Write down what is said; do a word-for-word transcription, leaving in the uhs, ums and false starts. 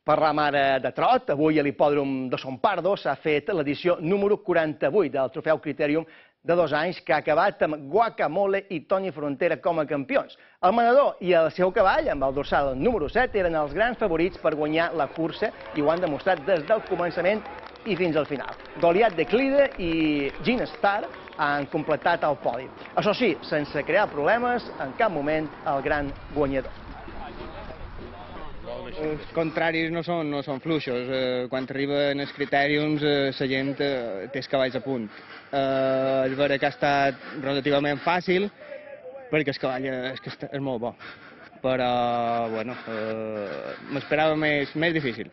Parlam ara de trot. Avui a l'hipòdrom de Son Pardo s'ha fet l'edició número quaranta-vuit del trofeu Critèrium de dos anys, que ha acabat amb Guacamole i Toni Frontera com a campions. El manador i el seu cavall, amb el dorsal número set, eren els grans favorits per guanyar la cursa i ho han demostrat des del començament i fins al final. Goliat de Clide i Gin Star han completat el podi. Això sí, sense crear problemes, en cap moment el gran guanyador. Els contraris no són, no són fluixos. Eh, quan arriben els critèriums, eh, la gent eh, té els cavalls a punt. Eh, és vera que ha estat relativament fàcil, perquè el cavall és, és, és molt bo. Però, bueno, eh, m'esperava més, més difícil.